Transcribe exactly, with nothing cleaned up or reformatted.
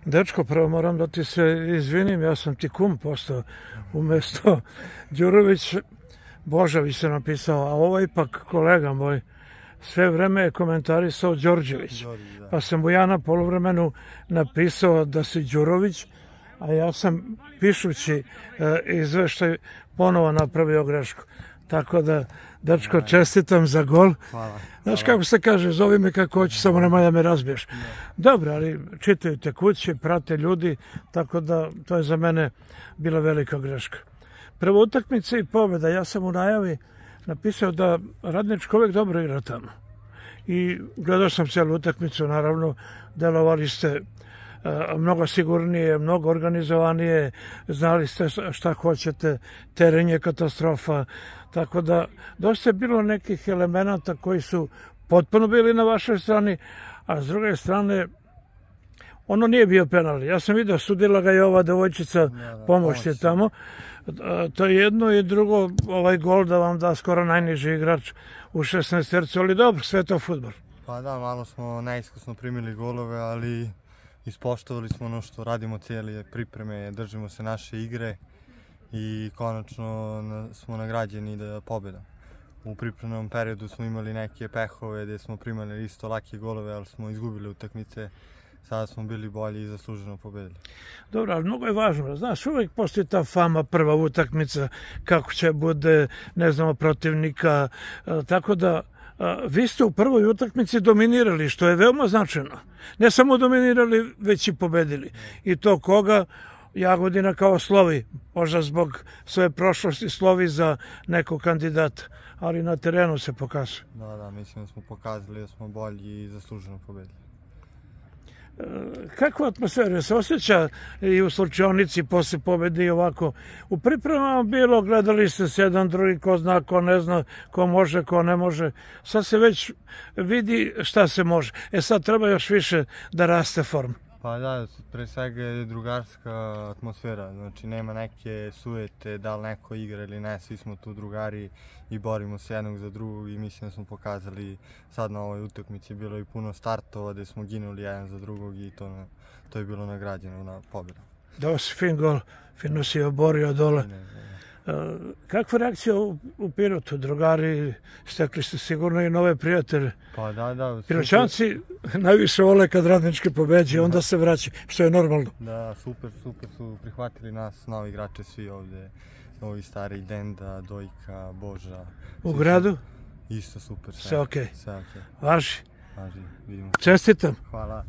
Dečko, prvo moram da ti se izvinim, ja sam ti kum postao umjesto Đurović. Božović se napisao, a ovo ipak kolega moj sve vreme je komentarisao Đorđević. Pa sam mu ja na poluvremenu napisao da si Đurović, a ja sam pišući izveštaj ponovo napravio grešku. Tako da, dečko, čestitam za gol. Znaš kako se kaže, zovi me kako hoće, samo nemoj da me razbiješ. Dobro, ali čitaju te kuće, prate ljudi, tako da to je za mene bila velika greška. Prvo utakmice i pobjeda, ja sam u najavi napisao da Radničko uvijek dobro igra tamo. I gledao sam cijelu utakmicu, naravno, delovali ste mnogo sigurnije, mnogo organizovanije, znali ste šta hoćete, teren je katastrofa, tako da dosta je bilo nekih elemenata koji su potpuno bili na vašoj strani, a s druge strane ono nije bio penal. Ja sam vidio, sudila ga je ova devojčica, pomoć je tamo. To je jedno i drugo, ovaj gol da vam da skoro najniži igrač u šesnaestercu, ali dobro, sve je to fudbal. Pa da, malo smo neiskusno primili golove, ali ispoštovali smo ono što radimo cijele pripreme, držimo se naše igre i konačno smo nagrađeni da pobjeda. U pripremnom periodu smo imali neke pehove gdje smo primali isto lake golove, ali smo izgubili utakmice. Sada smo bili bolji i zasluženo pobedili. Dobro, ali mnogo je važno. Znaš, uvijek postoji ta fama, prva utakmica, kako će bude, ne znamo, protivnika. Tako da, vi ste u prvoj utakmici dominirali, što je veoma značajno. Ne samo dominirali, već i pobedili. I to koga? Jagodina kao slovi, možda zbog svoje prošlosti slovi za nekog kandidata, ali na terenu se pokazuje. Da, da, mislim da smo pokazali da smo bolji i zasluženo pobedili. Kakva atmosfera se osjeća i u slučajnici posle pobjede i ovako? U pripremama bilo, gledali ste se jedan drugi, ko zna, ko ne zna, ko može, ko ne može. Sad se već vidi šta se može. E sad treba još više da raste forma. Pa da, pre svega je drugarska atmosfera, znači nema neke sujete, da li neko igra ili ne, svi smo tu drugari i borimo se jednog za drugog i mislim da smo pokazali sad na ovoj utakmici, bilo je puno startova gdje smo ginuli jedan za drugog i to, to je bilo nagrađeno na pobjedu. Dao si fin gol, fino si oborio dole. Kakva reakcija u Pirotu, drugari, stekli ste sigurno i nove prijatelje? Pa da, da. Piroćanci najviše vole kad Radnički pobeđi, onda se vraća, što je normalno. Da, super, super su prihvatili nas, novi igrače svi ovdje, ovi stari, Denda, Dojka, Boža. U gradu? Isto super. Sve okej. Sve okej. Važi? Važi, vidimo. Čestitam. Hvala.